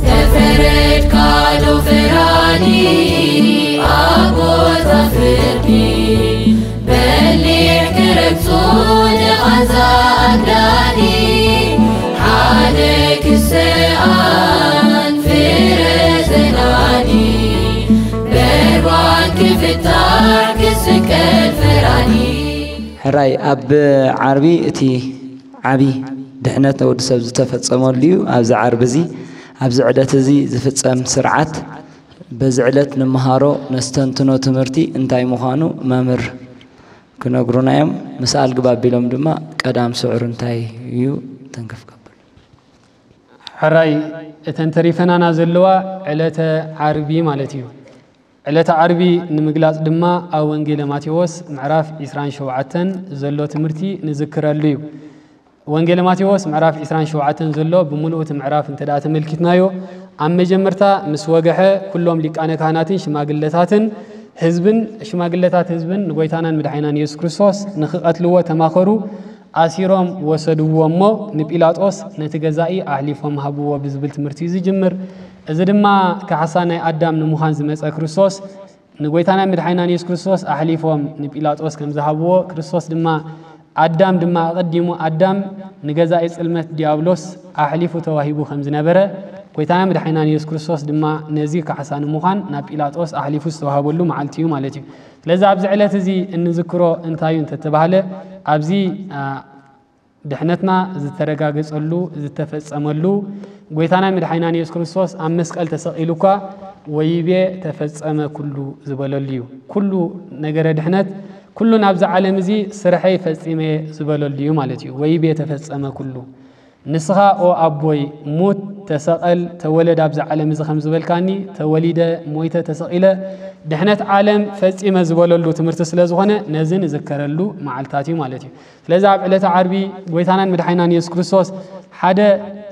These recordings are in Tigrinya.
ተፈረድካ ዶ ፈራዲ ኣብ ቦታ ፍርዲ? በሊሕ ክረግጾ ንቓንዛ ኣግዳዲ፣ ሓደ ክሰኣን ፍረ ዘናዲ፣ በርባን ክፍታሕ ክስቀል ፈራዲ። ሕራይ ኣብ ዓርቢ እቲ ዓቢ ድሕነት ወዲ ሰብ ዝተፈጸመሉ እዩ። ኣብዚ ዓርቢ እዚ፣ ኣብዚ ዕለት እዚ ዝፍጸም ስርዓት፣ በዚ ዕለት ንመሃሮ ነስተንትኖ ትምህርቲ እንታይ ምዃኑ መምህር ክነግሩና እዮም። ምስ ኣልግብ ኣቢሎም ድማ ቀዳም ስዑር እንታይ እዩ ተንከፍ ከብል። ሕራይ እተን ተሪፈናና ዘለዋ ዕለተ ዓርቢ ማለት እዩ። ዕለተ ዓርቢ ንምግላጽ ድማ ኣብ ወንጌለ ማቴዎስ ምዕራፍ ዒስራን ሸውዓተን ዘሎ ትምህርቲ ንዝክረሉ እዩ። ወንጌለ ማቴዎስ ምዕራፍ ዒስራን ሸውዓተን ዘሎ ብምሉኡ እቲ ምዕራፍ እንተ ደኣ ተመልኪትናዮ፣ ኣብ መጀመርታ ምስ ወግሐ፣ ኩሎም ሊቃነ ካህናትን ሽማግለታትን ህዝብን፣ ሽማግለታት ህዝብን ንጎይታናን መድሓኒናን የሱስ ክርስቶስ ንኽቐትልዎ ተማኸሩ። ኣሲሮም ወሰድዎ እሞ ንጲላጦስ ነቲ ገዛኢ ኣሕሊፎም ሃብዎ ብዝብል ትምህርቲ እዩ ዝጅምር። እዚ ድማ ካሕሳ ናይ ኣዳም ንምዃን ዝመጸ ክርስቶስ፣ ንጎይታና መድሓኒናን የሱስ ክርስቶስ ኣሕሊፎም ንጲላጦስ ከም ዝሃብዎ፣ ክርስቶስ ድማ፣ ኣዳም ድማ ኣቐዲሙ ኣዳም ንገዛኢ ጽልመት ዲያብሎስ ኣሕሊፉ ተዋሂቡ ከም ዝነበረ፣ ጎይታና መድሓኒናን የሱስ ክርስቶስ ድማ ነዚ ካሕሳ ንምዃን ናብ ጲላጦስ ኣሕሊፉ ዝተዋሃበሉ መዓልቲ እዩ ማለት እዩ። ስለዚ ኣብዚ ዕለት እዚ እንዝክሮ እንታይ እዩ እንተተባህለ፣ ኣብዚ፣ ኣ፣ ድሕነትና ዝተረጋገጸሉ፣ ዝተፈጸመሉ፣ ጎይታና መድሓኒናን የሱስ ክርስቶስ ኣብ መስቀል ተሰቒሉ እኳ ወይቤ ተፈጸመ ኩሉ ዝበለሉ እዩ። ኩሉ ነገረ ድሕነት፣ ኩሉ ናብዚ ዓለም እዚ ስርሐይ ፈጺመ ዝበለሉ እዩ ማለት እዩ። ወይቤ ተፈጸመ ኩሉ። ንስኻ ኦ ኣቦይ ሙት፣ ተሰቐል፣ ተወለድ ኣብዚ ዓለም እዚ ከም ዝበልካኒ፣ ተወሊደ፣ ሞይተ፣ ተሰቒለ፣ ድሕነት ዓለም ፈጺመ ዝበለሉ ትምህርቲ ስለ ዝኾነ፣ ነዚ ንዝከረሉ መዓልታት እዩ ማለት እዩ። ስለዚ ኣብ ዕለተ ዓርቢ ጎይታናን መድሓኒናን የሱስ ክርስቶስ ሓደ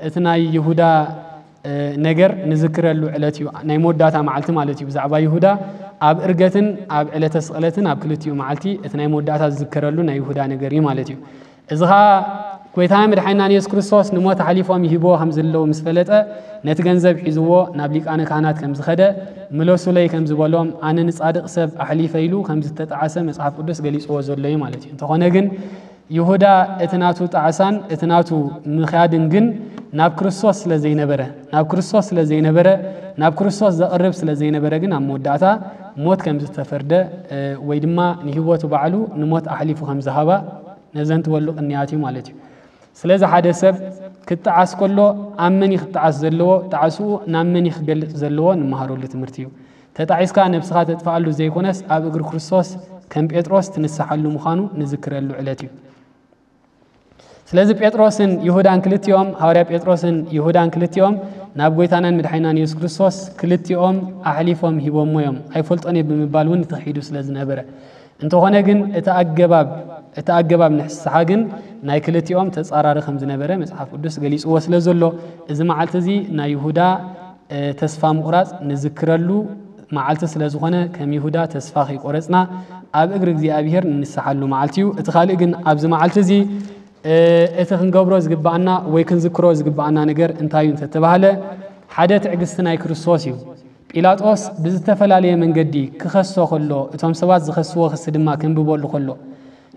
እቲ ናይ ይሁዳ፣ እ፣ ነገር ንዝክረሉ ዕለት እዩ። ናይ መወዳእታ መዓልቲ ማለት እዩ። ብዛዕባ ይሁዳ ኣብ እርገትን ኣብ ዕለተ ስቕለትን ኣብ ክልቲኡ መዓልቲ እቲ ናይ መወዳእታ ዝዝከረሉ ናይ ይሁዳ ነገር እዩ ማለት እዩ። እዚ ኸኣ ጎይታና መድሓኒናን የሱስ ክርስቶስ ንሞት ኣሕሊፎም ይህብዎ ከም ዘለዉ ምስ ፈለጠ፣ ነቲ ገንዘብ ሒዝዎ ናብ ሊቃነ ካህናት ከም ዝኸደ፣ ምለሱለይ ከም ዝበሎም፣ ኣነ ንጻድቕ ሰብ ኣሕሊፈ ኢሉ ከም ዝተጣዕሰ መጽሓፍ ቅዱስ ገሊጽዎ ዘሎ እዩ ማለት እዩ። እንተኾነ ግን ይሁዳ እቲ ናቱ ጣዕሳን እቲ ናቱ ምኽያድን ግን ናብ ክርስቶስ ስለ ዘይነበረ፣ ናብ ክርስቶስ ስለ ዘይነበረ፣ ናብ ክርስቶስ ዘቕርብ ስለ ዘይነበረ ግን ኣብ መወዳእታ ሞት ከም ዝተፈርደ፣ እ፣ ወይ ድማ ንህይወቱ ባዕሉ ንሞት ኣሕሊፉ ከም ዝሃባ ነዘንትወሉ ቅንያት እዩ ማለት እዩ። ስለዚ ሓደ ሰብ ክጣዓስ ከሎ ኣብ መን እዩ ክጣዓስ ዘለዎ? ጣዕስኡ ናብ መን እዩ ክገልጽ ዘለዎ? ንመሃረሉ ትምህርቲ እዩ። ተጣዒስካ ነብስኻ ተጥፍኣሉ ዘይኮነስ ኣብ እግሪ ክርስቶስ ከም ጴጥሮስ ትንስሓሉ ምዃኑ ንዝክረሉ ዕለት እዩ። ስለዚ ጴጥሮስን ይሁዳን ክልቲኦም፣ ሃዋርያ ጴጥሮስን ይሁዳን ክልቲኦም ናብ ጎይታናን መድሓኒናን የሱስ ክርስቶስ ክልቲኦም ኣሕሊፎም ሂቦሞ እዮም። ኣይፈልጦን እየ ብምባል እውን ተኺዱ ስለ ዝነበረ። እንተኾነ ግን እቲ ኣገባብ፣ እቲ ኣገባብ ንስሓ ግን ናይ ክልቲኦም ተጻራሪ ከም ዝነበረ መጽሓፍ ቅዱስ ገሊጽዎ ስለ ዘሎ፣ እዚ መዓልቲ እዚ ናይ ይሁዳ፣ እ፣ ተስፋ ምቑራጽ ንዝክረሉ መዓልቲ ስለ ዝኾነ፣ ከም ይሁዳ ተስፋ ከይቆረጽና ኣብ እግሪ እግዚኣብሔር ንንስሓሉ መዓልቲ እዩ። እቲ ካልእ ግን ኣብዚ መዓልቲ እዚ፣ እ፣ እቲ ክንገብሮ ዝግብኣና ወይ ክንዝክሮ ዝግብኣና ነገር እንታይ እዩ እንተተባህለ፣ ሓደ ትዕግስቲ ናይ ክርስቶስ እዩ። ጲላጦስ ብዝተፈላለየ መንገዲ ክኸሶ ከሎ፣ እቶም ሰባት ዝኸስዎ ክሲ ድማ ከንብበሉ ከሎ፣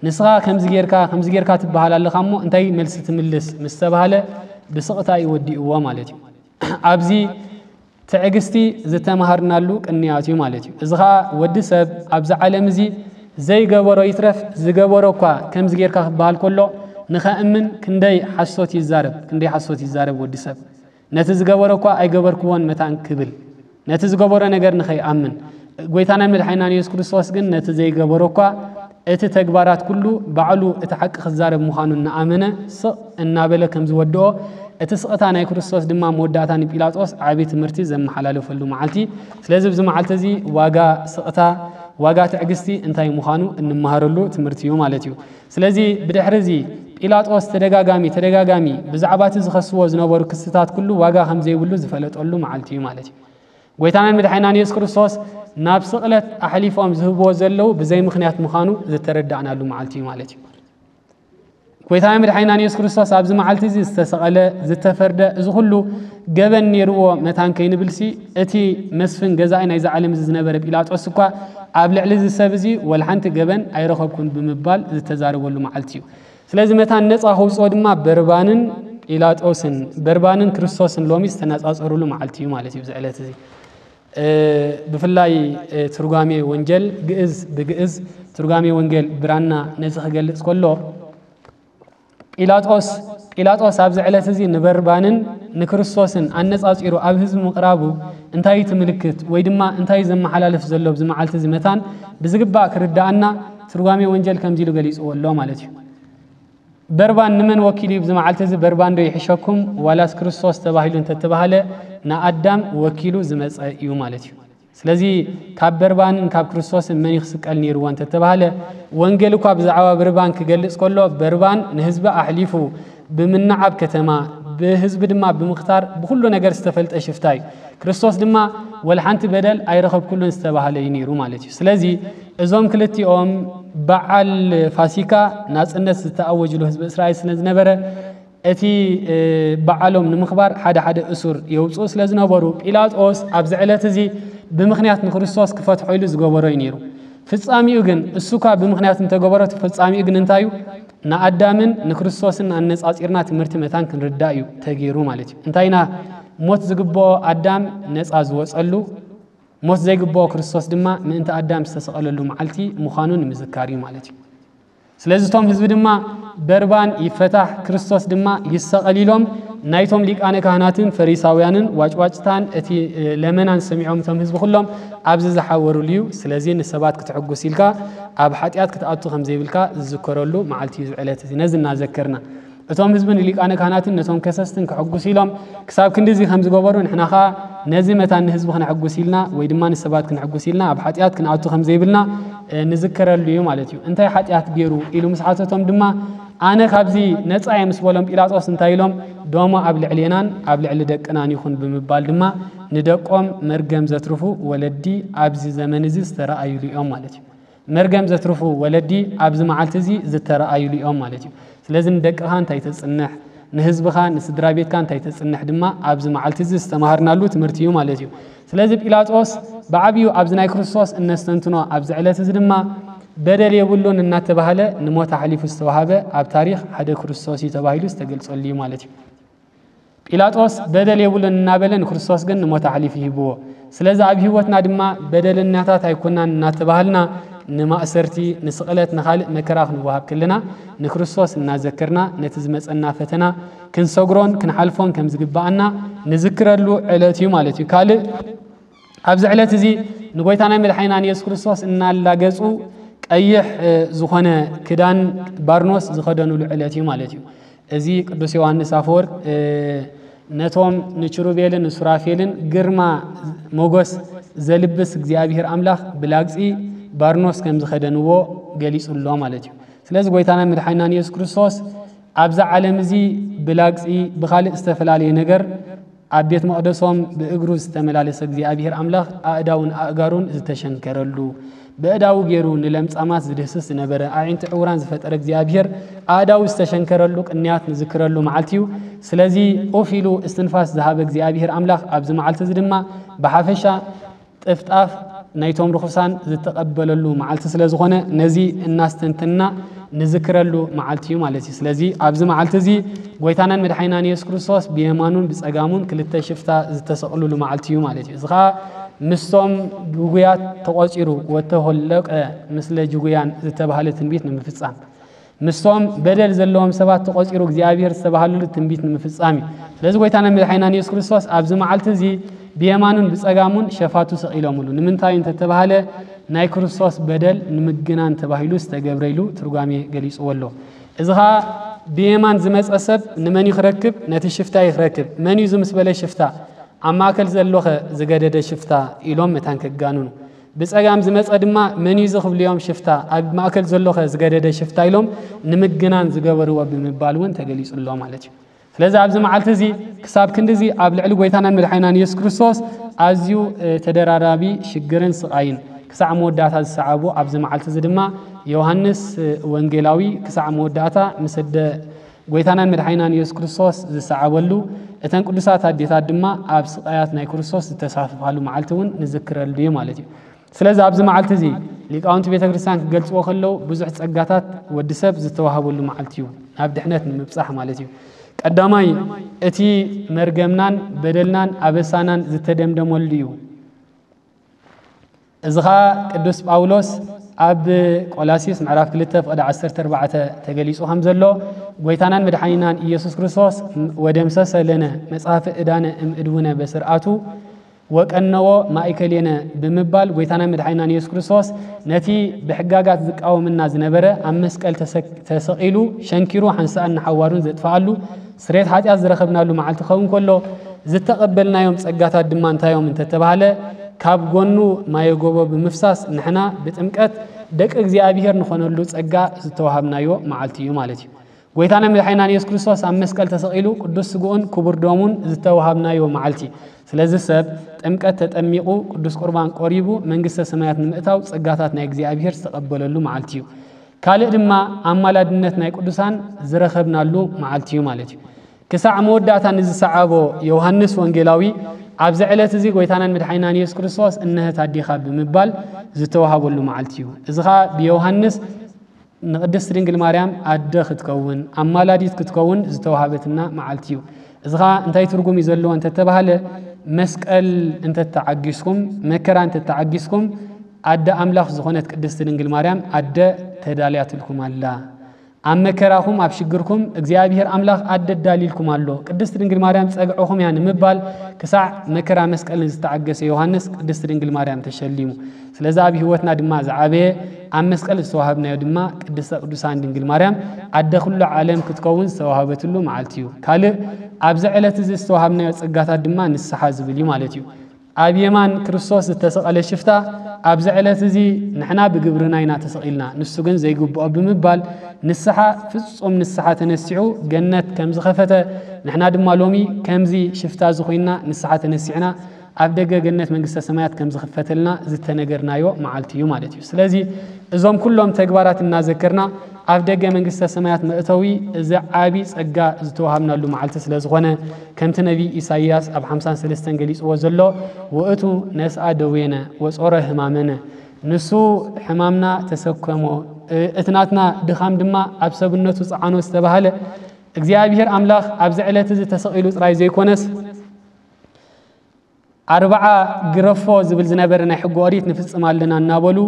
"ንስኻ ከምዚ ጌርካ፣ ከምዚ ጌርካ ትበሃል ኣለኻ እሞ እንታይ መልሲ ትምልስ?" ምስ ተባህለ፣ ብስቕታ እዩ ወዲእዎ ማለት እዩ። ኣብዚ ትዕግስቲ ዝተማሃርናሉ ቅንያት እዩ ማለት እዩ። እዚ ኸኣ ወዲ ሰብ ኣብዚ ዓለም እዚ ዘይገበሮ ይትረፍ፣ ዝገበሮ እኳ ከምዚ ጌርካ ክበሃል ከሎ፣ ንኸእምን ክንደይ ሓሶት ይዛረብ፣ ክንደይ ሓሶት ይዛረብ ወዲ ሰብ። ነቲ ዝገበሮ እኳ ኣይገበርክዎን መታን ክብል፣ ነቲ ዝገበሮ ነገር ንኸይኣምን፣ ጎይታናን መድሓኒናን የሱስ ክርስቶስ ግን ነቲ ዘይገበሮ እኳ እቲ ተግባራት ኩሉ ባዕሉ እቲ ሓቂ ክዛረብ ምዃኑ እናኣመነ ስቕ እናበለ ከም ዝወድኦ፣ እቲ ስቕታ ናይ ክርስቶስ ድማ መወዳእታ ንጲላጦስ ዓቢ ትምህርቲ ዘመሓላለፈሉ መዓልቲ። ስለዚ ኣብዚ መዓልቲ እዚ ዋጋ ስቕታ፣ ዋጋ ትዕግስቲ እንታይ ምዃኑ እንመሃረሉ ትምህርቲ እዩ ማለት እዩ። ስለዚ ብድሕሪ እዚ ጲላጦስ ተደጋጋሚ፣ ተደጋጋሚ ብዛዕባ እቲ ዝኸስዎ ዝነበሩ ክስታት ኩሉ ዋጋ ከም ዘይብሉ ዝፈለጠሉ መዓልቲ እዩ ማለት እዩ። ጎይታናን መድሓኒናን የሱስ ክርስቶስ ናብ ስቕለት ኣሕሊፎም ዝህብዎ ዘለዉ ብዘይ ምኽንያት ምዃኑ ዝተረዳእናሉ መዓልቲ እዩ ማለት እዩ። ጎይታና መድሓኒናን የሱስ ክርስቶስ ኣብዚ መዓልቲ እዚ ዝተሰቐለ፣ ዝተፈርደ፣ እዚ ኩሉ ገበን ነይርዎ መታን ከይንብልሲ፣ እቲ መስፍን ገዛኢ ናይዛ ዓለም እዚ ዝነበረ ጲላጦስ እኳ ኣብ ልዕሊ እዚ ሰብ እዚ ወላ ሓንቲ ገበን ኣይረኸብኩን ብምባል ዝተዛረበሉ መዓልቲ እዩ። ስለዚ መታን ነፃ ከውፅኦ ድማ በርባንን ጲላጦስን፣ በርባንን ክርስቶስን ሎሚ ዝተነፃፀሩሉ መዓልቲ እዩ ማለት እዩ። እዚ ዕለት እዚ ብፍላይ ትርጓሜ ወንጌል ግእዝ ብግእዝ፣ ትርጓሜ ወንጌል ብራና ነዚ ክገልፅ ከሎ፣ ጲላጦስ ጲላጦስ ኣብዚ ዕለት እዚ ንበርባንን ንክርስቶስን ኣነጻጺሩ ኣብ ህዝቢ ምቕራቡ እንታይ እዩ እቲ ምልክት ወይ ድማ እንታይ እዩ ዘመሓላልፍ ዘሎ ኣብዚ መዓልቲ እዚ መታን ብዝግባእ ክርድኣና ትርጓሜ ወንጀል ከምዚ ኢሉ ገሊጽዎ ኣሎ ማለት እዩ። በርባን ንመን ወኪሉ እዩ ኣብዚ መዓልቲ እዚ? በርባን ዶ ይሕሸኩም ዋላስ ክርስቶስ ተባሂሉ እንተተባህለ ንኣዳም ወኪሉ ዝመጸ እዩ ማለት እዩ። ስለዚ ካብ በርባንን ካብ ክርስቶስን መን ይኽስቀል ነይርዎ እንተተባህለ፣ ወንጌል እኳ ብዛዕባ በርባን ክገልጽ ከሎ፣ በርባን ንህዝቢ ኣሕሊፉ ብምንዓብ ከተማ፣ ብህዝቢ ድማ ብምኽታር ብኹሉ ነገር ዝተፈልጠ ሽፍታ እዩ። ክርስቶስ ድማ ወላ ሓንቲ በደል ኣይረኸብኩሉን ዝተባህለ እዩ ነይሩ ማለት እዩ። ስለዚ እዞም ክልቲኦም በዓል ፋሲካ ናጽነት ዝተኣወጅሉ ህዝቢ እስራኤል ስለ ዝነበረ፣ እቲ በዓሎም ንምኽባር ሓደ ሓደ እሱር የውፅኡ ስለ ዝነበሩ፣ ጲላጦስ ኣብዚ ዕለት እዚ ብምኽንያት ንክርስቶስ ክፈትሖ ኢሉ ዝገበሮ እዩ ነይሩ። ፍጻሚኡ ግን፣ እሱ እኳ ብምኽንያት እንተገበሮ፣ እቲ ፍጻሚኡ ግን እንታይ እዩ? ንኣዳምን ንክርስቶስን ኣነጻጺርና ትምህርቲ መታን ክንርዳእ እዩ ተገይሩ ማለት እዩ። እንታይ ኢና ሞት ዝግብኦ ኣዳም ነጻ ዝወጸሉ፣ ሞት ዘይግብኦ ክርስቶስ ድማ ምእንቲ ኣዳም ዝተሰቐለሉ መዓልቲ ምዃኑ ንምዝካር እዩ ማለት እዩ። ስለዚ እቶም ህዝቢ ድማ በርባን ይፈታሕ፣ ክርስቶስ ድማ ይሰቐል ኢሎም ናይቶም ሊቃነ ካህናትን ፈሪሳውያንን ዋጭዋጭታን እቲ ለመናን ሰሚዖም እቶም ህዝቢ ኩሎም ኣብዚ ዝሓወሩሉ እዩ። ስለዚ ንሰባት ክትሕጉስ ኢልካ ኣብ ሓጢኣት ክትኣቱ ከም ዘይብልካ ዝዝከረሉ መዓልቲ እዩ እዚ ዕለት እዚ። ነዚ እናዘከርና እቶም ህዝቢ ንሊቃነ ካህናትን ነቶም ከሰስትን ከሕጉስ ኢሎም ክሳብ ክንድዚ ከም ዝገበሩ ንሕና ኸኣ ነዚ መታን ንህዝቢ ክነሕጉስ ኢልና ወይ ድማ ንሰባት ክንሕጉስ ኢልና ኣብ ሓጢኣት ክንኣቱ ከም ዘይብልና ንዝከረሉ እዩ ማለት እዩ። እንታይ ሓጢኣት ገይሩ ኢሉ ምስ ሓተቶም ድማ ኣነ ካብዚ ነጻ እየ ምስ በሎም ጲላጦስ እንታይ ኢሎም? ደሞ ኣብ ልዕሌናን ኣብ ልዕሊ ደቅናን ይኹን ብምባል ድማ ንደቆም መርገም ዘትርፉ ወለዲ ኣብዚ ዘመን እዚ ዝተረኣዩሉ እዮም ማለት እዩ። መርገም ዘትርፉ ወለዲ ኣብዚ መዓልቲ እዚ ዝተረኣዩሉ እዮም ማለት እዩ። ስለዚ ንደቅኻ እንታይ ተጽንሕ፣ ንህዝብኻ ንስድራ ቤትካ እንታይ ተጽንሕ ድማ ኣብዚ መዓልቲ እዚ ዝተማሃርናሉ ትምህርቲ እዩ ማለት እዩ። ስለዚ ጲላጦስ ብዓብዩ ኣብዚ ናይ ክርስቶስ እነስተንትኖ ኣብዚ ዕለት እዚ ድማ በደል የብሉን እናተባህለ ንሞት ኣሕሊፉ ዝተዋሃበ ኣብ ታሪኽ ሓደ ክርስቶስ እዩ ተባሂሉ ዝተገልጸሉ እዩ ማለት እዩ። ጲላጦስ በደል የብሉን እናበለ ንክርስቶስ ግን ንሞት ኣሕሊፉ ሂብዎ። ስለዚ ኣብ ህይወትና ድማ በደለኛታት ኣይኮናን እናተባህልና ንማእሰርቲ፣ ንስቕለት፣ ንኻልእ መከራ ክንወሃብ ከለና ንክርስቶስ እናዘከርና ነቲ ዝመጸና ፈተና ክንሰግሮን ክንሓልፎን ከም ዝግብኣና ንዝክረሉ ዕለት እዩ ማለት እዩ። ካልእ ኣብዚ ዕለት እዚ ንጎይታና መድሓኒና ንየሱስ ክርስቶስ እናላገጹ ቀይሕ ዝኾነ ክዳን ባርኖስ ዝኸደኑሉ ዕለት እዩ ማለት እዩ። እዚ ቅዱስ ዮሃንስ ኣፈወርቅ ነቶም ንችሩቤልን ንሱራፌልን ግርማ ሞጎስ ዘልብስ እግዚኣብሔር ኣምላኽ ብላግጺ ባርኖስ ከም ዝኸደንዎ ገሊጹ ኣሎ ማለት እዩ። ስለዚ ጎይታና መድሓኒና ንየሱስ ክርስቶስ ኣብዛ ዓለም እዚ ብላግጺ ብኻልእ ዝተፈላለየ ነገር ኣብ ቤት መቕደሶም ብእግሩ ዝተመላለሰ እግዚኣብሔር ኣምላኽ ኣእዳውን ኣእጋሩን ዝተሸንከረሉ፣ ብእዳዉ ገይሩ ንለምጻማት ዝድህስስ ዝነበረ፣ ኣዒንቲ ዕውራን ዝፈጠረ እግዚኣብሔር ኣእዳዉ ዝተሸንከረሉ ቅንያት ንዝክረሉ መዓልቲ እዩ። ስለዚ ኡፍ ኢሉ እስትንፋስ ዝሃበ እግዚኣብሔር ኣምላኽ ኣብዚ መዓልቲ እዚ ድማ ብሓፈሻ ጥፍጣፍ ናይቶም ርኹሳን ዝተቐበለሉ መዓልቲ ስለ ዝኾነ ነዚ እናስተንተንና ንዝክረሉ መዓልቲ እዩ ማለት እዩ። ስለዚ ኣብዚ መዓልቲ እዚ ጎይታናን መድሓኒናን የሱስ ክርስቶስ ብየማኑን ብጸጋሙን ክልተ ሽፍታ ዝተሰቕሉሉ መዓልቲ እዩ ማለት እዩ። እዚ ኸኣ ምስቶም ጅጉያት ተቖጺሩ፣ ወተሆለቀ ምስለ ጅጉያን ዝተባህለ ትንቢት ንምፍጻም፣ ምስቶም በደል ዘለዎም ሰባት ተቖጺሩ እግዚኣብሔር ዝተባህለሉ ትንቢት ንምፍጻም እዩ። ስለዚ ጎይታናን መድሓኒናን የሱስ ክርስቶስ ኣብዚ መዓልቲ እዚ ብየማኑን ብጸጋሙን ሸፋቱ ሰቒሎምሉ። ንምንታይ እንተተባህለ ናይ ክርስቶስ በደል ንምግናን ተባሂሉ ዝተገብረ ኢሉ ትርጓሜ ገሊጽዎ ኣሎ። እዚ ኸኣ ብየማን ዝመጸ ሰብ ንመን እዩ ክረክብ? ነቲ ሽፍታ እዩ ክረክብ። መን እዩ እዚ ምስ በለ ሽፍታ? ኣብ ማእከል ዘሎኸ ዝገደደ ሽፍታ ኢሎም መታን ከጋንኑ። ብጸጋም ዝመጸ ድማ መን እዩ እዚ ክብልዮም ሽፍታ፣ ኣብ ማእከል ዘሎኸ ዝገደደ ሽፍታ ኢሎም ንምግናን ዝገበርዎ ብምባል እውን ተገሊጹ ኣሎ ማለት እዩ። ስለዚ ኣብዚ መዓልቲ እዚ ክሳብ ክንድዚ ኣብ ልዕሊ ጎይታናን መድሓኒናን የሱስ ክርስቶስ ኣዝዩ ተደራራቢ ሽግርን ስቓይን ክሳዕ መወዳእታ ዝሰዓቡ ኣብዚ መዓልቲ እዚ ድማ ዮሃንስ ወንጌላዊ ክሳዕ መወዳእታ ምስ ኣደ ጎይታናን መድሓኒናን ኢየሱስ ክርስቶስ ዝሰዓበሉ፣ እተን ቅዱሳት ኣዴታት ድማ ኣብ ስቓያት ናይ ክርስቶስ ዝተሳተፋሉ መዓልቲ እውን ንዝክረሉ እዩ ማለት እዩ። ስለዚ ኣብዚ መዓልቲ እዚ ሊቃውንቲ ቤተ ክርስቲያን ክገልጽዎ ከለዉ ብዙሕ ጸጋታት ወዲ ሰብ ዝተዋህበሉ መዓልቲ እዩ፣ ናብ ድሕነት ንምብጻሕ ማለት እዩ። ቀዳማይ እቲ መርገምናን በደልናን ኣበሳናን ዝተደምደመሉ እዩ። እዚ ኸኣ ቅዱስ ጳውሎስ ኣብ ቆላሲስ ምዕራፍ ክልተ ፍቕዲ ዓሰርተ ኣርባዕተ ተገሊጹ ከም ዘሎ፣ ጎይታናን መድሓኒናን ኢየሱስ ክርስቶስ "ወደምሰሰ ለነ መጽሐፈ ዕዳነ እምእድውነ በስርዓቱ ወቀነዎ ማእከሌነ" ብምባል፣ ጎይታናን መድሓኒናን ኢየሱስ ክርስቶስ ነቲ ብሕጋጋት ዝቃወምና ዝነበረ ኣብ መስቀል ተሰ-፣ ተሰቒሉ ሸንኪሩ ሓንሳእን ንሓዋሩን ዘጥፍኣሉ ስርየት ሓጢኣት ዝረኸብናሉ መዓልቲ ክኸውን ከሎ፣ ዝተቐበልናዮም ጸጋታት ድማ እንታይ እዮም እንተተባህለ፣ ካብ ጎኑ ማየ ጎቦ ብምፍሳስ ንሕና ብጥምቀት ደቂ እግዚኣብሔር ንኾነሉ ጸጋ ዝተዋሃብናዮ መዓልቲ እዩ ማለት እዩ። ጎይታና መድሓኒናን ኢየሱስ ክርስቶስ ኣብ መስቀል ተሰቒሉ ቅዱስ ስግኡን ክቡር ደሙን ዝተዋሃብናዮ መዓልቲ። ስለዚ ሰብ ጥምቀት ተጠሚቑ ቅዱስ ቁርባን ቆሪቡ መንግስተ ሰማያት ንምእታው ጸጋታት ናይ እግዚኣብሔር ዝተቐበለሉ መዓልቲ እዩ። ካልእ ድማ ኣማላድነት ናይ ቅዱሳን ዝረኸብናሉ መዓልቲ እዩ ማለት እዩ። ክሳዕ መወዳእታ ንዝሰዓቦ ዮሃንስ ወንጌላዊ ኣብዚ ዕለት እዚ ጎይታናን መድሓኒናን ኢየሱስ ክርስቶስ "እነሀት ኣዴኻ" ብምባል ዝተዋሃበሉ መዓልቲ እዩ። እዚ ኸኣ ብዮሃንስ ንቅድስት ድንግል ማርያም ኣደ ክትከውን፣ ኣማላዲት ክትከውን ዝተዋሃበትና መዓልቲ እዩ። እዚ ኸኣ እንታይ ትርጉም እዩ ዘለዎ እንተተባህለ፣ መስቀል እንተተዓጊስኩም፣ መከራ እንተተዓጊስኩም፣ ኣደ ኣምላኽ ዝኾነት ቅድስት ድንግል ማርያም ኣደ ተዳልያትልኩም ኣላ። ኣብ መከራኹም፣ ኣብ ሽግርኩም እግዚኣብሔር ኣምላኽ ኣደ ኣዳልይልኩም ኣሎ። ቅድስት ድንግል ማርያም ጸግዕኹም እያ ንምባል ክሳዕ መከራ መስቀል ንዝተዓገሰ ዮሃንስ ቅድስት ድንግል ማርያም ተሸሊሙ። ስለዚ ኣብ ህይወትና ድማ ዝዓበየ ኣብ መስቀል ዝተዋሃብናዮ ድማ ቅድስተ ቅዱሳን ድንግል ማርያም ኣደ ኩሉ ዓለም ክትከውን ዝተዋሃበትሉ መዓልቲ እዩ። ካልእ ኣብዚ ዕለት እዚ ዝተዋሃብናዮ ጸጋታት ድማ ንስሓ ዝብል እዩ ማለት እዩ። ኣብ የማን ክርስቶስ ዝተሰቐለ ሽፍታ ኣብዚ ዕለት እዚ ንሕና ብግብርና ኢና ተሰቒልና፣ ንሱ ግን ዘይግብኦ ብምባል ንስሓ፣ ፍጹም ንስሓ ተነሲሑ ገነት ከም ዝኸፈተ፣ ንሕና ድማ ሎሚ ከምዚ ሽፍታ እዚ ኮይንና ንስሓ ተነሲዕና ኣብ ደገ ገነት መንግስተ ሰማያት ከም ዝኽፈተልና ዝተነገርናዮ መዓልቲ እዩ ማለት እዩ። ስለዚ እዞም ኩሎም ተግባራት እናዘከርና ኣብ ደገ መንግስተ ሰማያት መእተዊ እዚ ዓቢ ጸጋ ዝተዋሃብናሉ መዓልቲ ስለ ዝኾነ፣ ከምቲ ነቢይ ኢሳይያስ ኣብ ሓምሳን ሰለስተን ገሊጽዎ ዘሎ፣ "ውእቱ ነስኣ ደዌነ ወጾረ ሕማመነ"፣ ንሱ ሕማምና ተሰከሞ፣ እ-፣ እቲ ናትና ድኻም ድማ ኣብ ሰብነቱ ጸዓኖ ዝተባህለ እግዚኣብሔር ኣምላኽ ኣብዚ ዕለት እዚ ተሰቒሉ ጥራይ ዘይኮነስ፣ ኣርብዓ ግረፎ ዝብል ዝነበረ ናይ ሕጊ ኦሪት ንፍጽም ኣለና እናበሉ፣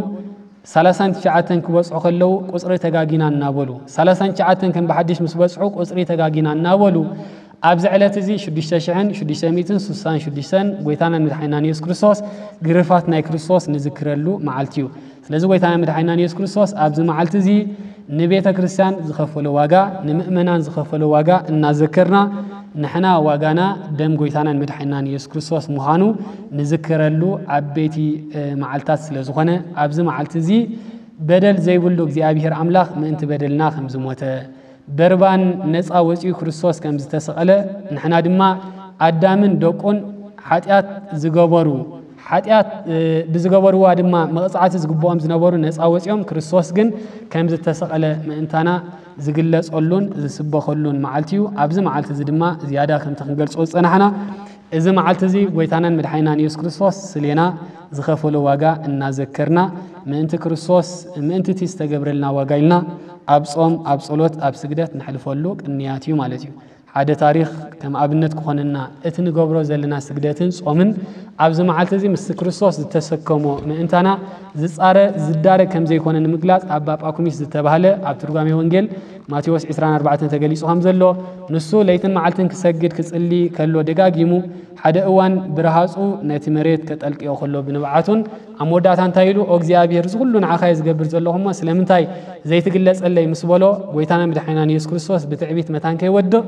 ሰላሳን ትሽዓተን ክበጽሑ ከለዉ ቁጽሪ ተጋጊና እናበሉ፣ ሰላሳን ትሽዓተን ከም ብሓድሽ ምስ በጽሑ ቁጽሪ ተጋጊና እናበሉ፣ ኣብዚ ዕለት እዚ ሽዱሽተ ሽሕን ሽዱሽተ ሚእትን ስሳን ሽዱሽተን ጎይታናን መድሓኒናን ኢየሱስ ክርስቶስ ግርፋት ናይ ክርስቶስ ንዝክረሉ መዓልቲ እዩ። ስለዚ ጎይታናን መድሓኒናን ኢየሱስ ክርስቶስ ኣብዚ መዓልቲ እዚ ንቤተ ክርስቲያን ዝኸፈሎ ዋጋ፣ ንምእመናን ዝኸፈሎ ዋጋ እናዘከርና፣ ንሕና ዋጋና ደም ጎይታናን መድሓኒናን ኢየሱስ ክርስቶስ ምዃኑ ንዝክረሉ ዓበይቲ፣ እ፣ መዓልታት ስለ ዝኾነ፣ ኣብዚ መዓልቲ እዚ በደል ዘይብሉ እግዚኣብሔር ኣምላኽ ምእንቲ በደልና ከም ዝሞተ፣ በርባን ነጻ ወጺኡ ክርስቶስ ከም ዝተሰቐለ፣ ንሕና ድማ ኣዳምን ደቁን ሓጢኣት ዝገበሩ፣ ሓጢኣት፣ እ፣ ብዝገበርዋ ድማ መቕጻዕቲ ዝግብኦም ዝነበሩ ነጻ ወጺኦም፣ ክርስቶስ ግን ከም ዝተሰቐለ ምእንታና ዝግለጸሉን ዝስበኸሉን መዓልቲ እዩ። ኣብዚ መዓልቲ እዚ ድማ ዝያዳ ከምቲ ክንገልጾ ዝጸናሕና፣ እዚ መዓልቲ እዚ ጎይታናን መድሓኒናን ኢየሱስ ክርስቶስ ስሌና ዝኸፈሎ ዋጋ እናዘከርና፣ ምእንቲ ክርስቶስ፣ ምእንቲ እቲ ዝተገብረልና ዋጋ ኢልና ኣብ ጾም፣ ኣብ ጸሎት፣ ኣብ ስግደት ነሕልፈሉ ቅንያት እዩ ማለት እዩ። ሓደ ታሪኽ ከም ኣብነት ክኾነና፣ እቲ ንገብሮ ዘለና ስግደትን ጾምን ኣብዚ መዓልቲ እዚ ምስ ክርስቶስ ዝተሰከሞ ምእንታና ዝጻረ፣ ዝዳረግ ከም ዘይኮነ ንምግላጽ ኣባ ጳኩሚስ ዝተባህለ ኣብ ትርጓሜ ወንጌል ማቴዎስ ዕስራን ኣርባዕተን ተገሊጹ ከም ዘሎ፣ ንሱ ለይትን መዓልትን ክሰግድ ክጽሊ ከሎ ደጋጊሙ፣ ሓደ እዋን ብረሃጹ ነቲ መሬት ከጠልቅዮ ከሎ ብንብዓቱን ኣብ መወዳእታ እንታይ ኢሉ፣ "ኦ እግዚኣብሔር፣ እዚ ኩሉ ንዓኻ እየ ዝገብር ዘለኹ እሞ ስለምንታይ ዘይትግለጸለይ?" ምስ በሎ፣ ጎይታና መድሓኒናን ኢየሱስ ክርስቶስ ብትዕቢት መታን ከይወድቕ፣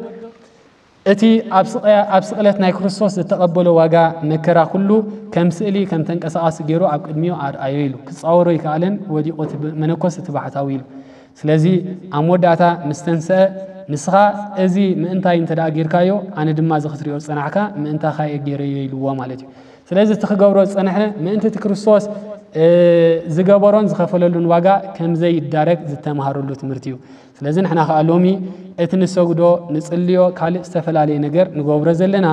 እቲ ኣብ ስቕያ-፣ ኣብ ስቕለት ናይ ክርስቶስ ዝተቐበሎ ዋጋ መከራ ኩሉ ከም ስእሊ፣ ከም ተንቀሳቓሲ ገይሩ ኣብ ቅድሚኡ ኣርኣዮ ኢሉ። ክጻወሮ ኣይከኣለን፣ ወዲቑ እቲ ብ-፣ መነኮስ እቲ ባሕታዊ ኢሉ። ስለዚ ኣብ መወዳእታ ምስ ተንስአ፣ "ንስኻ እዚ ምእንታይ እንተ ደኣ ጌርካዮ፣ ኣነ ድማ እዚ ክትሪኦ ዝጸናሕካ ምእንታኻ እየ ገይረዮ" ኢልዎ ማለት እዩ። ስለዚ እቲ ክገብሮ ዝጸንሐ ምእንቲ እቲ ክርስቶስ ዝገበሮን ዝኸፈለሉን ዋጋ ከምዘይዳረግ ዝተምሃረሉ ትምህርቲ እዩ። ስለዚ ንሕና ከኣ ሎሚ እቲ ንሰግዶ፣ ንጽልዮ፣ ካልእ ዝተፈላለየ ነገር ንገብሮ ዘለና፣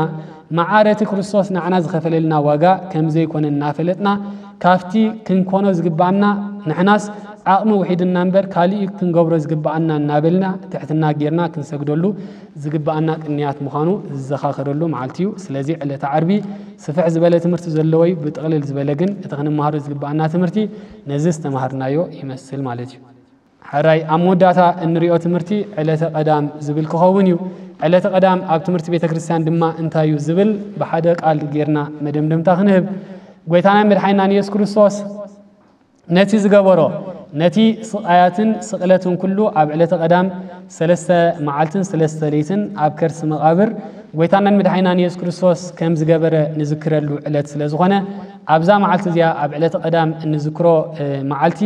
መዓረቲ ክርስቶስ ንዓና ዝኸፈለልና ዋጋ ከምዘይኮነ እናፈለጥና፣ ካብቲ ክንኮኖ ዝግብኣና፣ ንሕናስ ዓቕሚ ውሒድና እምበር ካልእ እዩ ክንገብሮ ዝግብኣና እናበልና ትሕትና ጌርና ክንሰግደሉ ዝግብኣና ቅንያት ምዃኑ ዝዘኻኸረሉ መዓልቲ እዩ። ስለዚ ዕለተ ዓርቢ ስፍሕ ዝበለ ትምህርቲ ዘለዎ እዩ። ብጥቕልል ዝበለ ግን እቲ ክንመሃሮ ዝግብኣና ትምህርቲ ነዚ ዝተምሃርናዮ ይመስል ማለት እዩ። ሕራይ ኣብ መወዳእታ እንሪኦ ትምህርቲ ዕለተ ቀዳም ዝብል ክኸውን እዩ። ዕለተ ቀዳም ኣብ ትምህርቲ ቤተ ክርስቲያን ድማ እንታይ እዩ ዝብል ብሓደ ቃል ጌርና መደምደምታ ክንህብ። ጎይታናን መድሓኒናን ኢየሱስ ክርስቶስ ነቲ ዝገበሮ፣ ነቲ ስቓያትን ስቕለትን ኩሉ ኣብ ዕለተ ቀዳም ሰለስተ መዓልትን ሰለስተ ለይትን ኣብ ከርሲ መቓብር ጎይታናን መድሓኒናን ኢየሱስ ክርስቶስ ከም ዝገበረ ንዝክረሉ ዕለት ስለ ዝኾነ፣ ኣብዛ መዓልቲ እዚኣ ኣብ ዕለተ ቀዳም እንዝክሮ መዓልቲ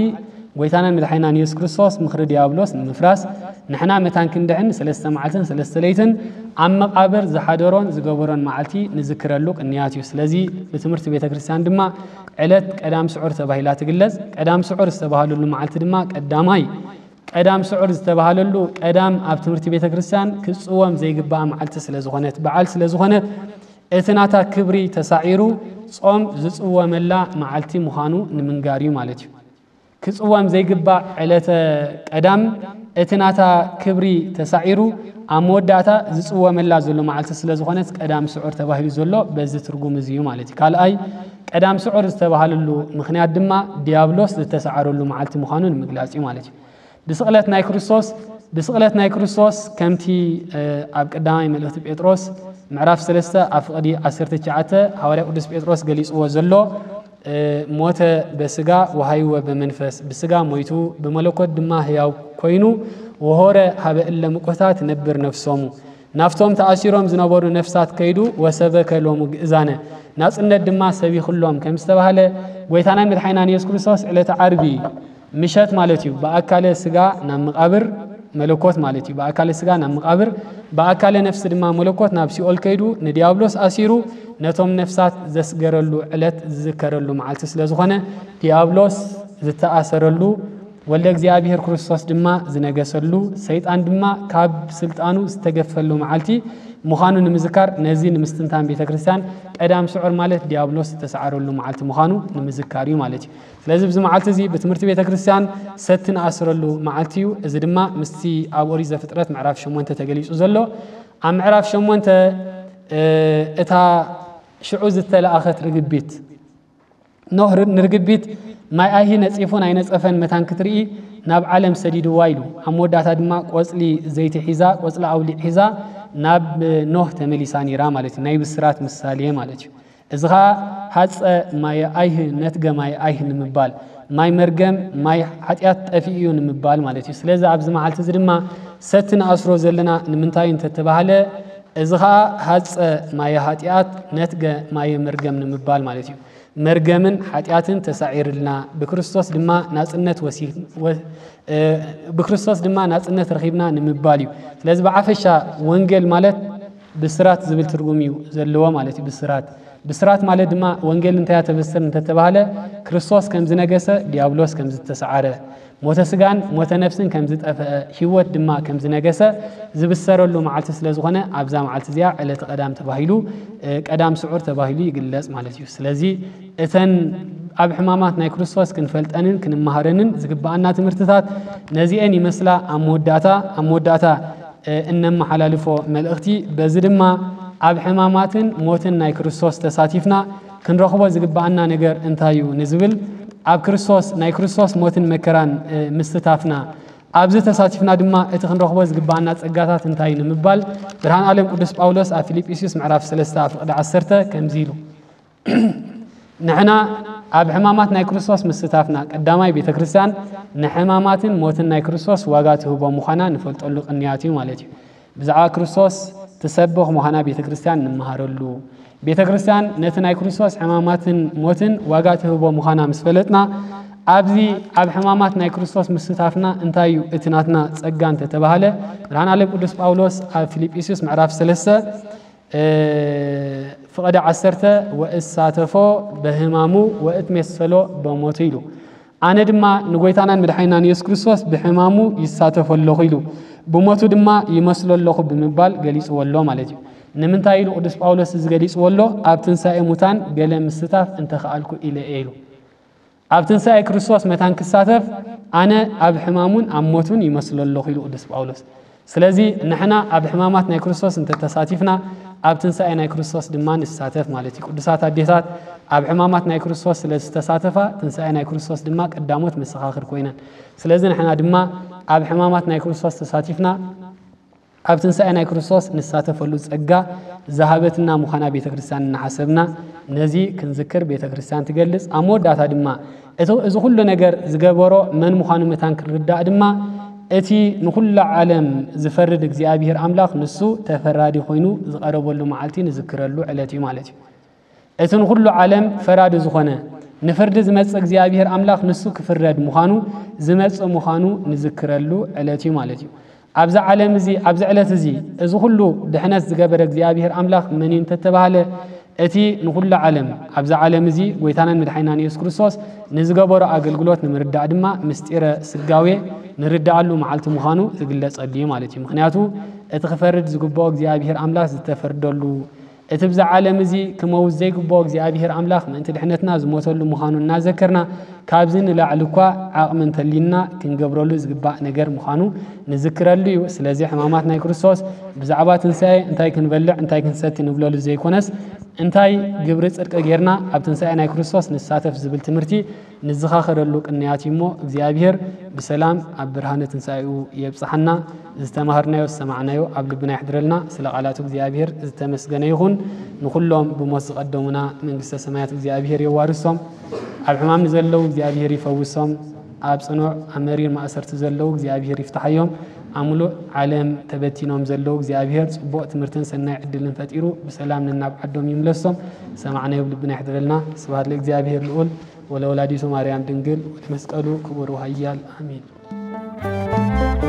ጎይታናን መድሓኒናን ኢየሱስ ክርስቶስ ምኽሪ ዲያብሎስ ንምፍራስ፣ ንሕና መታን ክንድሕን ሰለስተ መዓልትን ሰለስተ ለይትን ኣብ መቓብር ዝሓደሮን ዝገበሮን መዓልቲ ንዝክረሉ ቅንያት እዩ። ስለዚ ብትምህርቲ ቤተ ክርስቲያን ድማ ዕለት ቀዳም ስዑር ተባሂላ ትግለጽ። ቀዳም ስዑር ዝተባህለሉ መዓልቲ ድማ ቀዳማይ ቀዳም ስዑር ዝተባህለሉ ቀዳም ኣብ ትምህርቲ ቤተ ክርስቲያን ክጽወም ዘይግባእ መዓልቲ ስለ ዝኾነት፣ በዓል ስለ ዝኾነት፣ እቲ ናታ ክብሪ ተሳዒሩ ጾም ዝጽወመላ መዓልቲ ምዃኑ ንምንጋር እዩ ማለት እዩ። ክጽወም ዘይግባእ ዕለተ ቀዳም እቲ ናታ ክብሪ ተሳዒሩ ኣብ መወዳእታ ዝጽወመላ ዘሎ መዓልቲ ስለ ዝኾነት ቀዳም ስዑር ተባሂሉ ዘሎ በዚ ትርጉም እዚ እዩ ማለት እዩ። ካልኣይ ቀዳም ስዑር ዝተባህለሉ ምኽንያት ድማ ዲያብሎስ ዝተሰዓረሉ መዓልቲ ምዃኑ ንምግላጽ እዩ ማለት እዩ። ብስቕለት ናይ ክርስቶስ ብስቕለት ናይ ክርስቶስ ከምቲ ኣብ ቀዳማይ መልእኽቲ ጴጥሮስ ምዕራፍ ሰለስተ ኣብ ፍቕዲ ዓሰርተ ትሽዓተ ሃዋርያ ቅዱስ ጴጥሮስ ገሊጽዎ ዘሎ ሞተ በስጋ ወሃይወ በመንፈስ፣ ብስጋ ሞይቱ ብመለኮት ድማ ህያው ኮይኑ ወሆረ ሀበ እለ ምቁህታት ነብር ነፍሶሙ፣ ናፍቶም ተኣሲሮም ዝነበሩ ነፍሳት ከይዱ ወሰበከ ሎሙ ግእዛነ፣ ናጽነት ድማ ሰቢኽሎም ከም ዝተባህለ ጎይታናን መድሓኒናን ኢየሱስ ክርስቶስ ዕለተ ዓርቢ ምሸት ማለት እዩ ብኣካለ ስጋ ናብ መቓብር መለኮት ማለት እዩ ብኣካለ ስጋ ናብ መቓብር ብኣካለ ነፍሲ ድማ መለኮት ናብ ሲኦል ከይዱ ንዲያብሎስ ኣሲሩ ነቶም ነፍሳት ዘስገረሉ ዕለት ዝዝከረሉ መዓልቲ ስለ ዝኾነ ዲያብሎስ ዝተኣሰረሉ ወልደ እግዚኣብሔር ክርስቶስ ድማ ዝነገሰሉ ሰይጣን ድማ ካብ ስልጣኑ ዝተገፈሉ መዓልቲ ምዃኑ ንምዝካር ነዚ ንምስትንታን ቤተ ክርስቲያን ቀዳም ስዑር ማለት ዲያብሎስ ዝተሰዓረሉ መዓልቲ ምዃኑ ንምዝካር እዩ ማለት እዩ። ስለዚ ኣብዚ መዓልቲ እዚ ብትምህርቲ ቤተ ክርስቲያን ሰቲ ንኣስረሉ መዓልቲ እዩ። እዚ ድማ ምስቲ ኣብ ኦሪት ዘፍጥረት ምዕራፍ ሸሞንተ ተገሊጹ ዘሎ ኣብ ምዕራፍ ሸሞንተ እታ ሽዑ ዝተለኣኸት ርግቢት ኖህ ንርግቢት ማይ ኣይሂ ነጺፉን ኣይነጸፈን መታን ክትርኢ ናብ ዓለም ሰዲድዋ ኢሉ ኣብ መወዳእታ ድማ ቆጽሊ ዘይቲ ሒዛ ቆጽሊ ኣውሊዕ ሒዛ ናብ ኖህ ተመሊሳ ነይራ ማለት እዩ። ናይ ብስራት ምሳሌ ማለት እዩ። እዚ ኸዓ ሃፀ ማየ ኣይህ ነትገ ማየ ኣይህ ንምባል ማይ መርገም ማይ ሓጢኣት ጠፊኡ እዩ ንምባል ማለት እዩ። ስለዚ ኣብዚ መዓልቲ እዚ ድማ ሰቲ ንኣስሮ ዘለና ንምንታይ እንተተባህለ እዚ ኸዓ ሃፀ ማየ ሓጢኣት ነትገ ማየ መርገም ንምባል ማለት እዩ። መርገምን ሓጢኣትን ተሳዒርልና ብክርስቶስ ድማ ናፅነት ወሲ ብክርስቶስ ድማ ናፅነት ረኺብና ንምባል እዩ። ስለዚ ብዓፈሻ ወንጌል ማለት ብስራት ዝብል ትርጉም እዩ ዘለዎ ማለት እዩ። ብስራት ብስራት ማለት ድማ ወንጌል እንታይ ተበስር እንተተባህለ ክርስቶስ ከም ዝነገሰ ዲያብሎስ ከም ዝተሰዓረ ሞተ ስጋን ሞተ ነፍስን ከም ዝጠፍአ ህይወት ድማ ከም ዝነገሰ ዝብሰረሉ መዓልቲ ስለ ዝኾነ ኣብዛ መዓልቲ እዚኣ ዕለተ ቀዳም ተባሂሉ ቀዳም ስዑር ተባሂሉ ይግለጽ ማለት እዩ። ስለዚ እተን ኣብ ሕማማት ናይ ክርስቶስ ክንፈልጠንን ክንመሃረንን ዝግብኣና ትምህርትታት ነዚአን ይመስላ። ኣብ መወዳእታ ኣብ መወዳእታ እነመሓላልፎ መልእኽቲ በዚ ድማ ኣብ ሕማማትን ሞትን ናይ ክርስቶስ ተሳቲፍና ክንረኽቦ ዝግብኣና ነገር እንታይ እዩ ንዝብል ኣብ ክርስቶስ ናይ ክርስቶስ ሞትን መከራን ምስታፍና ኣብዚ ተሳቲፍና ድማ እቲ ክንረኽቦ ዝግብኣና ጸጋታት እንታይ ንምባል ብርሃን ዓለም ቅዱስ ጳውሎስ ኣብ ፊልጵስዩስ ምዕራፍ ሰለስተ ኣብ ፍቕዲ ዓሰርተ ከምዚ ኢሉ ንሕና ኣብ ሕማማት ናይ ክርስቶስ ምስታፍና ቀዳማይ ቤተ ክርስቲያን ንሕማማትን ሞትን ናይ ክርስቶስ ዋጋ ትህቦ ምዃና ንፈልጠሉ ቅንያት እዩ ማለት እዩ። ብዛዕባ ክርስቶስ ትሰብኽ ምዃና ቤተ ክርስቲያን ንመሃረሉ ቤተ ክርስቲያን ነቲ ናይ ክርስቶስ ሕማማትን ሞትን ዋጋ ትህቦ ምዃና ምስ ፈለጥና ኣብዚ ኣብ ሕማማት ናይ ክርስቶስ ምስታፍና እንታይ እዩ እቲ ናትና ጸጋ እንተተባህለ ብርሃን ዓለም ቅዱስ ጳውሎስ ኣብ ፊልጵስዩስ ምዕራፍ ሰለስተ ፍቐደ ዓሰርተ ወእሳተፎ በህማሙ ወእትሜሰሎ በሞቱ ኢሉ። ኣነ ድማ ንጎይታናን መድሓኒናን ኢየሱስ ክርስቶስ ብሕማሙ ይሳተፎ ኣለኹ ኢሉ። ብሞቱ ድማ ይመስሎ ኣለኹ ብምባል ገሊጽዎ ኣሎ ማለት እዩ። ንምንታይ ኢሉ ቅዱስ ጳውሎስ እዚ ገሊጽዎ ኣሎ? ኣብ ትንሳኤ ሙታን ገለ ምስታፍ እንተኸኣልኩ ኢለ እየ ኢሉ። ኣብ ትንሳኤ ክርስቶስ መታን ክሳተፍ ኣነ ኣብ ሕማሙን ኣብ ሞቱን ይመስሎ ኣለኹ ኢሉ ቅዱስ ጳውሎስ። ስለዚ ንሕና ኣብ ሕማማት ናይ ክርስቶስ እንተተሳቲፍና ኣብ ትንሳኤ ናይ ክርስቶስ ድማ ንሳተፍ ማለት እዩ። ቅዱሳት ኣዴታት ኣብ ሕማማት ናይ ክርስቶስ ስለ ዝተሳተፋ ትንሳኤ ናይ ክርስቶስ ድማ ቀዳሞት መሰኻኽር ኮይነን። ስለዚ ንሕና ድማ ኣብ ሕማማት ናይ ክርስቶስ ተሳቲፍና ኣብ ትንሳኤ ናይ ክርስቶስ ንሳተፈሉ ጸጋ ዝሃበትና ምዃና ቤተ ክርስቲያን እናሓሰብና ነዚ ክንዝክር ቤተ ክርስቲያን ትገልጽ። ኣብ መወዳእታ ድማ እቲ እዚ ኩሉ ነገር ዝገበሮ መን ምዃኑ መታን ክንርዳእ ድማ እቲ ንኹላ ዓለም ዝፈርድ እግዚኣብሔር ኣምላኽ ንሱ ተፈራዲ ኮይኑ ዝቐረበሉ መዓልቲ ንዝክረሉ ዕለት እዩ ማለት እዩ። እቲ ንኹሉ ዓለም ፈራዲ ዝኾነ ንፍርዲ ዝመጽእ እግዚኣብሔር ኣምላኽ ንሱ ክፍረድ ምዃኑ ዝመጽእ ምዃኑ ንዝክረሉ ዕለት እዩ ማለት እዩ። ኣብዚ ዓለም እዚ ኣብዚ ዕለት እዚ እዚ ኩሉ ድሕነት ዝገበረ እግዚኣብሔር ኣምላኽ መን እዩ እንተተባህለ እቲ ንኹሉ ዓለም ኣብዚ ዓለም እዚ ጎይታናን መድሓኒናን ኢየሱስ ክርስቶስ ንዝገበሮ ኣገልግሎት ንምርዳእ ድማ ምስጢረ ስጋዌ ንርዳኣሉ መዓልቲ ምዃኑ ዝግለጸሉ እዩ ማለት እዩ። ምኽንያቱ እቲ ክፈርድ ዝግብኦ እግዚኣብሔር ኣምላኽ ዝተፈርደሉ እቲ ብዛ ዓለም እዚ ክመውት ዘይግብኦ እግዚኣብሔር ኣምላኽ ምእንቲ ድሕነትና ዝሞተሉ ምዃኑ እናዘከርና ካብዚ ንላዕሊ እኳ ዓቕሚ እንተልዩና ክንገብረሉ ዝግባእ ነገር ምዃኑ ንዝክረሉ እዩ። ስለዚ ሕማማት ናይ ክርስቶስ ብዛዕባ ትንሳኤ እንታይ ክንበልዕ እንታይ ክንሰቲ ንብለሉ ዘይኮነስ እንታይ ግብሪ ጽድቂ ጌርና ኣብ ትንሳኤ ናይ ክርስቶስ ንሳተፍ ዝብል ትምህርቲ ንዝኻኸረሉ ቅንያት እዩ እሞ እግዚኣብሔር ብሰላም ኣብ ብርሃነ ትንሳኤኡ የብጽሓና። ዝተማሃርናዮ ዝሰማዕናዮ ኣብ ልብና ይሕድረልና። ስለ ቃላቱ እግዚኣብሔር ዝተመስገነ ይኹን። ንኹሎም ብሞት ዝቐደሙና መንግስተ ሰማያት እግዚኣብሔር የዋርሶም። ኣብ ሕማም ንዘለዉ እግዚኣብሔር ይፈውሶም። ኣብ ጽኑዕ ኣብ መሪር ማእሰርቲ ዘለዉ እግዚኣብሔር ይፍትሓዮም። ኣብ ሙሉእ ዓለም ተበቲኖም ዘለዉ እግዚኣብሔር ጽቡቕ ትምህርትን ሰናይ ዕድልን ፈጢሩ ብሰላም ነናብ ዓዶም ይምለሶም። ዝሰማዕናዮ ኣብ ልብና ይሕድረልና። ስብሐት ለእግዚኣብሔር ልዑል ወለወላዲቱ ማርያም ድንግል ወለመስቀሉ ክቡር ወሃያል ኣሜን።